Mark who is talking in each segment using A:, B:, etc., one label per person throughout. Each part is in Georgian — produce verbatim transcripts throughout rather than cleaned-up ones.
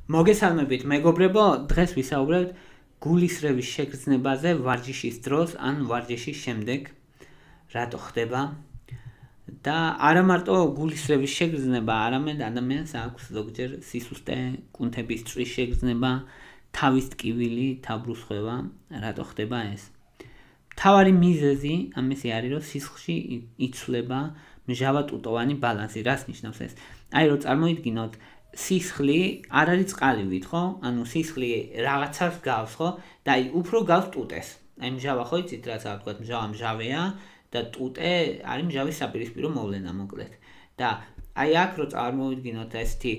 A: მოგესალმებით მეგობრებო, დღეს ვისაუბრებთ გულისრევის შეგრძნებაზე ვარჯიშის დროს ან ვარჯიშის შემდეგ, რატო ხდება და არა მარტო გულისრევის შეგრძნება, არამედ ადამიანს აქვს ზოგჯერ სისუსტე, კუნთების წვრის შეგრძნება, თავის ტკივილი, თავბრუსხვევა, რატო ხდება ეს? მთავარი მიზეზი ამისი არის, რომ სისხლში იცვლება მჟავა-ტუტოვანი ბალანსი, რას ნიშნავს ეს? აი რომ წარმოიდგინოთ სისხლი არ არის წყალივით, ხო? ანუ სისხლი რაღაცას გავს, ხო? და აი უფრო გავს ტუტეს. აი მჟავა ხო იცით რაც არ თქვა, მჟავა მჟავეა და ტუტე არის მჟავის საპირისპირო მოვლენა მოკლედ. და აი აქ რო წარმოვიდგინოთ ესეთი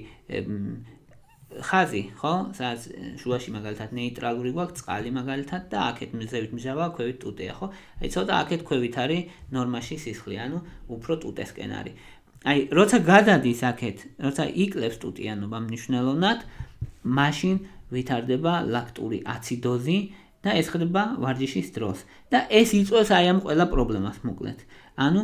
A: ხაზი, ხო? სადაც შუაში მაგალითად ნეიტრალური გვაქვს წყალი მაგალითად და აქეთ მზევით მჟავა, ქვევით ტუტეა, ხო? აი ცოტა აქეთ ქვევით არის ნორმაში სისხლი, ანუ უფრო ტუტესკენ არის. აი, როცა გადადის აქეთ, როცა იკლებს ტუტიანობა მნიშვნელოვნად, მაშინ ვითარდება ლაქტური აციდოზი და ეს ხდება ვარჯიშის დროს. და ეს იწვევს აი ამ ყველა პრობლემას მოკლედ. ანუ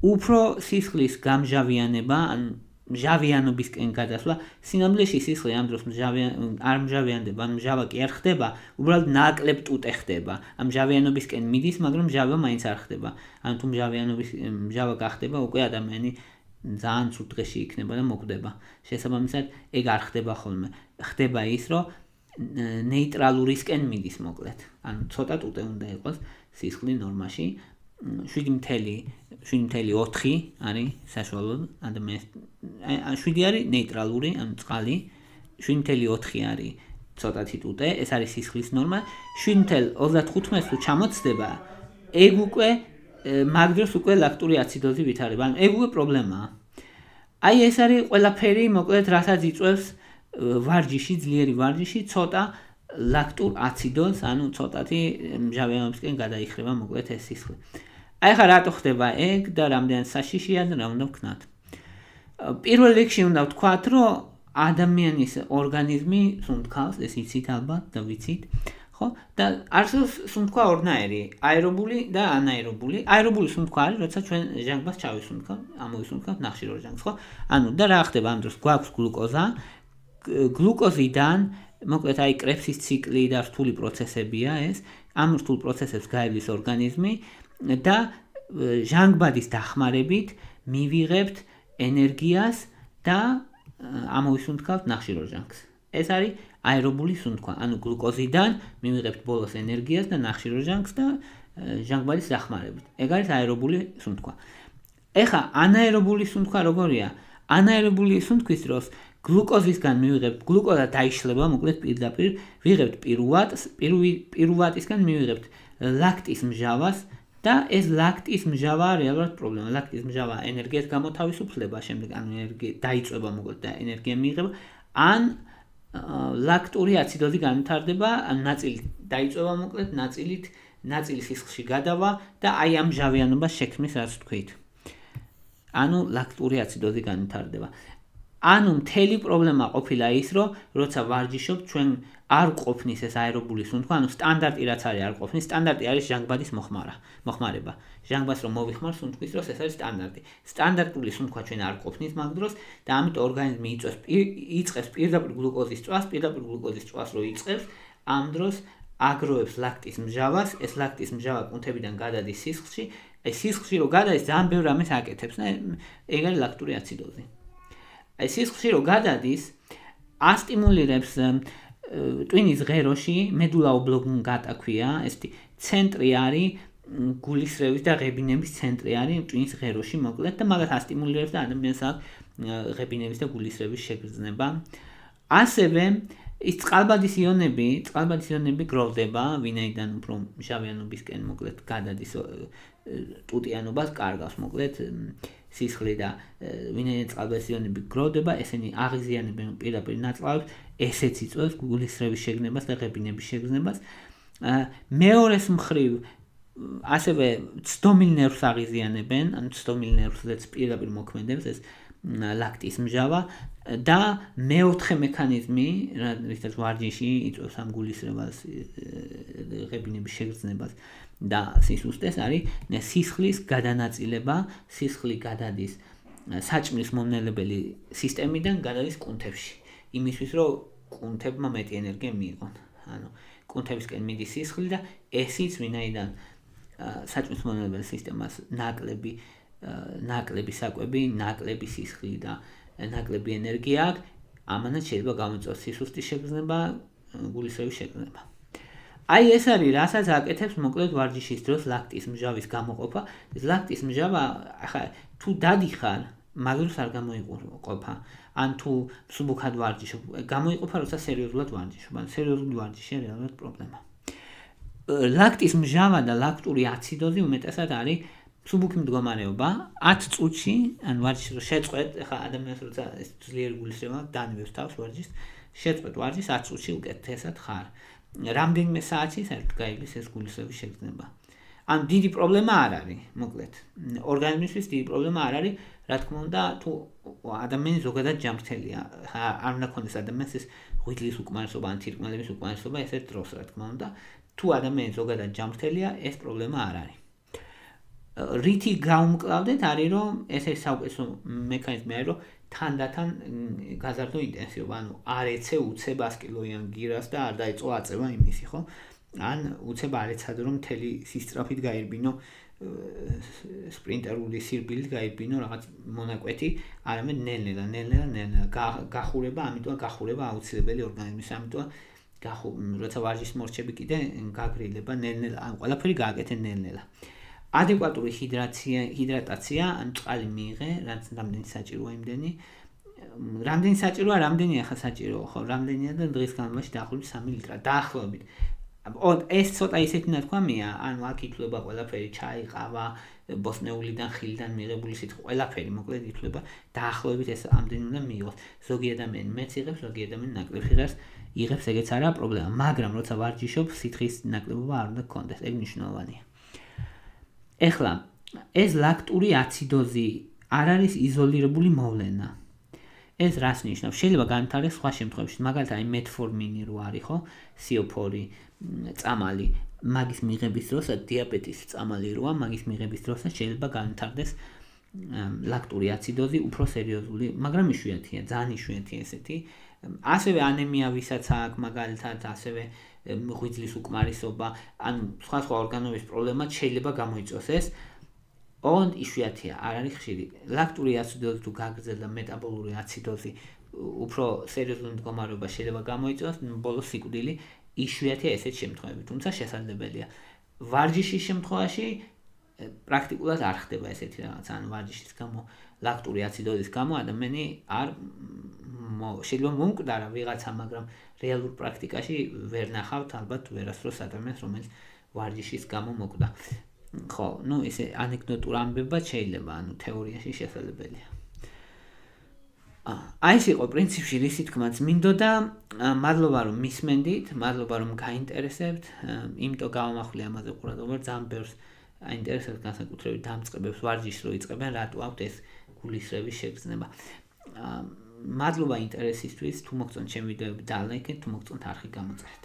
A: უფრო სისხლის გამჟავიანება, ან მჟავიანობისკენ გადასვლა, სინამდვილეში სისხლი ამ დროს არ მჟავიანდება, ან მჟავა კი არ ხდება, უბრალოდ ნაკლებ ტუტე ხდება. ამ მჟავიანობისკენ მიდის, მაგრამ მჟავა მაინც არ ხდება. ანუ თუ მჟავიანობის მჟავა გახდება, უკვე ადამიანი ძალიან ცუდ დღეში იქნება და მოკვდება. შესაბამისად, ეგ არ ხდება ხოლმე. ხდება ის, რომ ნეიტრალურისკენ მიდის მოკლედ. ანუ ცოტა ტუტე უნდა იყოს სისხლი ნორმაში. შვიდი წუთი ოთხი არის საშუალოდ ადამიანის. შვიდი არის ნეიტრალური, ანუ წყალი. შვიდი წუთი ოთხი არის ცოტათი ტუტე, ეს არის სისხლის ნორმა. შვიდი წუთი ოცდათხუთმეტს თუ ჩამოცდება, ეგ უკვე მაგ დროს უკვე ლაქტური აციდოზი ვითარდება. ანუ ეგ უკვე პრობლემაა. აი ეს არის ყველაფერი, მოკლედ, რასაც იწვევს ვარჯიში, ძლიერი ვარჯიში, ცოტა ლაქტურ აციდოზს, ანუ ცოტათი მჟავიანობისკენ გადაიხრება მოკლედ ეს სისხლი. აი ხა რატო ხდება ეგ და რამდენად საშიშია და რა უნდა ვქნათ? პირველ რიგში უნდა ვთქვათ, რომ ადამიანის ორგანიზმი სუნთქავს, ეს იცით ალბათ და ვიცით. ხო? და არსებობს სუნთქვა ორნაირი, აერობული და ანაერობული. აერობული სუნთქვა არის, როცა ჩვენ ჟანგბადს ჩავისუნთქავთ, ამოვისუნთქავთ ნახშირორ ჟანგს, ხო? ანუ და რა ხდება ამ დროს? გვაქვს გლუკოზა. გლუკოზიდან, მოკლედ აი კრებსის ციკლი და რთული პროცესებია ეს. ამ რთულ პროცესებს გაივლის ორგანიზმი და ჟანგბადის დახმარებით მივიღებთ ენერგიას და ამოვისუნთქავთ ნახშირორ ჟანგს. ეს არის აერობული სუნთქვა, ანუ გლუკოზიდან მივიღებთ ბოლოს ენერგიას და ნახშირორ ჟანგს და ჟანგბადის დახმარებით. ეგ არის აერობული სუნთქვა. ეხა ანაერობული სუნთქვა როგორია? ანაერობული სუნთქვის დროს გლუკოზისგან მივიღებთ, გლუკოზა დაიშლება, მოკლედ პირდაპირ ვიღებთ პირუატს, პირუატისგან მივიღებთ ლაქტის მჟავას და ეს ლაქტის მჟავა რეალურად პრობლემა. ლაქტის მჟავა ენერგიას გამოთავისუფლება, შემდეგ ანუ ენერგია დაიწვება მოკლედ და ენერგია მიიღება, ან ლაქტური აციდოზი განვითარდება, ან ნაწილი დაიწვება მოკლედ, ნაწილით, ნაწილი სისხლში გადავა და აი ამ მჟავიანობას შექმნის, რაც ვთქვით. ანუ ლაქტური აციდოზი განვითარდება. ანუ მთელი პრობლემა ყოფილა ის, რომ როცა ვარჯიშობთ, ჩვენ არ ყოფნის ეს აერობული სუნთქვა, ანუ სტანდარტი რაც არის არ ყოფნის, სტანდარტი არის ჟანგბადის მოხმარა, მოხმარება. ჟანგბადს რომ მოვიხმარ სუნთქვის დროს, ეს არის სტანდარტი. სტანდარტული სუნთქვა ჩვენ არ ყოფნის მაგ დროს და ამიტომ ორგანიზმი იწვევს იწყებს პირდაპირ გლუკოზის წვას, პირდაპირ გლუკოზის წვას რო იწყებს, ამ დროს აგროვებს ლაქტის მჟავას, ეს ლაქტის მჟავა კუნთებიდან გადადის სისხლში, აი სისხლში რო გადადის, ძალიან ბევრ რამეს აკეთებს და ეგ არის ლაქტური აციდოზი. აი სისხლში რო გადადის, ასტიმულირებს ტვინის ღეროში, მედულა ობლონგატა ქვია, ესეთი ცენტრი არის, გულისრევის და ღებინების ცენტრი არის ტვინის ღეროში მოკლედ და მაგას ასტიმულირებს და ადამიანს აქვს ღებინების და გულისრევის შეგრძნება. ასევე ის წყალბადის იონები, წყალბადის იონები გროვდება, ვინაიდან უფრო მჟავიანობისკენ მოკლედ გადადის ტუტიანობას კარგავს მოკლედ სისხლი და ვინაიდან წყალბადის იონები გროვდება, ესენი აღიზიანებენ პირდაპირ ნაწლავებს, ესეც იწვევს გულისრევის შეგრძნებას და ღებინების შეგრძნებას. მეორეს მხრივ ასევე ცდომილ ნერვს აღიზიანებენ, ანუ ცდომილ ნერვსაც პირდაპირ მოქმედებს ეს ლაქტის მჟავა და მეოთხე მექანიზმი, რითაც ვარჯიში იწვევს ამ გულისრევას, ღებინების შეგრძნებას და სისუსტეს, არის სისხლის გადანაწილება, სისხლი გადადის საჭმლის მომნელებელი სისტემიდან გადადის კუნთებში. იმისთვის, რომ კუნთებმა მეტი ენერგია მიიღონ. ანუ კუნთებისკენ მიდის სისხლი და ესიც ვინაიდან საჭმის მომნელებელი სისტემას ნაკლები ნაკლები საკვები, ნაკლები სისხლი და ნაკლები ენერგია აქვს, ამანაც შეიძლება გამოიწვიოს სისუსტის შეგრძნება, გულისრევის შეგრძნება. აი ეს არის, რასაც აკეთებს მოკლედ ვარჯიშის დროს ლაქტის მჟავის გამოყოფა. ლაქტის მჟავა, ახლა თუ დადიხარ, მაგროს არ გამოიყოფა. ან თუ მსუბუქად ვარჯიშობ, გამოიყოფა, როცა სერიოზულად ვარჯიშობ. ან სერიოზული ვარჯიშია რეალურად პრობლემა. ლაქტის მჟავა და ლაქტური აციდოზი უმეტესად არის მსუბუქი მდგომარეობა, ათ წუთში, ან ვარჯიშს რო შეწყვეტ, ახლა ადამიანს როცა ეს ძლიერი გულისრევა დაანებებს თავს ვარჯიშს, შეწყვეტ ვარჯიშს ათ წუთში უკეთესად ხარ. რამდენიმე საათში საერთოდ გაიგლის ეს გულისრევის შეგრძნება. ან დიდი პრობლემა არ არის, მოკლედ. ორგანიზმისთვის დიდი პრობლემა არ არის, რა თქმა უნდა, თუ ადამიანი ზოგადად ჯანმრთელია, არ უნდა ქონდეს ადამიანს ეს ღვიძლის უკმარისობა, ან თირკმელების უკმარისობა ესეთ დროს, რა თქმა უნდა, თუ ადამიანი ზოგადად ჯანმრთელია, ეს პრობლემა არ არის. რითი გაუმკლავდეთ არის, რომ ეს ეს საუკეთესო მექანიზმი არის, რომ თანდათან გაზარდო ინტენსივობა, ანუ არ ეცე უცებ ას კილოიან გირას და არ დაიწყო აწევა იმისი, ხო? ან უცებ არ ეცადო, რომ მთელი სისწრაფით გაირბინო სპრინტერული სირბილით გაირბინო რაღაც მონაკვეთი, არამედ ნელ-ნელა, ნელ-ნელა, ნელ-ნელა გახურება, ამიტომ გახურება აუცილებელი ორგანიზმის, ამიტომ როცა ვარჯიშს მორჩები კიდე გაგრილება ნელ-ნელა, ან ყველაფერი გააკეთე ნელ-ნელა. ადეკვატური ჰიდრაცია, ჰიდრატაცია, ან წყალი მიიღე, რაც რამდენი საჭიროა იმდენი. რამდენი საჭიროა, რამდენია ხა საჭიროა, ხო, რამდენია და დღის განმავლობაში დაახლოებით სამი ლიტრა, დაახლოებით. ეს ცოტა ისეთი ნათქვამია, ანუ აქ ითვლება ყველაფერი, ჩაი, ყავა, ბოსტნეულიდან, ხილიდან მიღებული სითხე, ყველაფერი მოკლედ ითვლება, დაახლოებით ეს ამდენი უნდა მიიღოს. ზოგი ადამიანი მეც იღებს, ზოგი ადამიანი ნაკლებ იღებს, იღებს, ეგეც არაა პრობლემა, მაგრამ როცა ვარჯიშობ, სითხის ნაკლებობა არ უნდა გქონდეს, ეგ მნიშვნელოვანია. ეხლა, ეს ლაქტური აციდოზი არ არის იზოლირებული მოვლენა. ეს რას ნიშნავს? შეიძლება განვითარდეს სხვა შემთხვევებში, მაგალითად, აი მეტფორმინი რო არის, ხო? სიოფორი, წამალი, მაგის მიღების დროსაც დიაბეტის წამალი როა, მაგის მიღების დროსაც შეიძლება განვითარდეს ლაქტური აციდოზი, უფრო სერიოზული, მაგრამ იშვიათია, ძალიან იშვიათია ესეთი. ასევე ანემია ვისაც აქვს, მაგალითად, ასევე ღვიძლის უკმარისობა, ანუ სხვა სხვა ორგანოების პრობლემაც შეიძლება გამოიწვიოს ეს. ოღონდ იშვიათია, არ არის ხშირი. ლაქტური აციდოზი თუ გაგრძელდა მეტაბოლური აციდოზი, უფრო სერიოზული მდგომარეობა შეიძლება გამოიწვიოს, ბოლოს სიკვდილი, იშვიათია ესეთ შემთხვევები, თუმცა შესაძლებელია. ვარჯიშის შემთხვევაში პრაქტიკულად არ ხდება ესეთი რაღაც, ანუ ვარჯიშის გამო, ლაქტური აციდოზის გამო ადამიანი არ შეიძლება მომკვდარა ვიღაცა, მაგრამ რეალურ პრაქტიკაში ვერ ნახავთ ალბათ ვერასდროს ადამიანს, რომელიც ვარჯიშის გამო მოკვდა. ხო, ну, ესე ანეკდოტურ ამბებად შეიძლება, ანუ თეორიაში შესაძლებელია. აი ეს იყო პრინციპში რისი თქმაც მინდოდა, მადლობა რომ მისმენდით, მადლობა რომ გაინტერესებთ, იმიტომ გავამახვილე ამაზე ყურადღება, ძალიან ბევრს აინტერესებს განსაკუთრებით დამწყებებს ვარჯიშს რო იწყებენ, რატო აქვთ ეს გულისრევის შეგრძნება. მადლობა ინტერესისთვის, თუ მოგწონთ ჩემი ვიდეოები დალაიქეთ, თუ მოგწონთ არხი გამოწერეთ.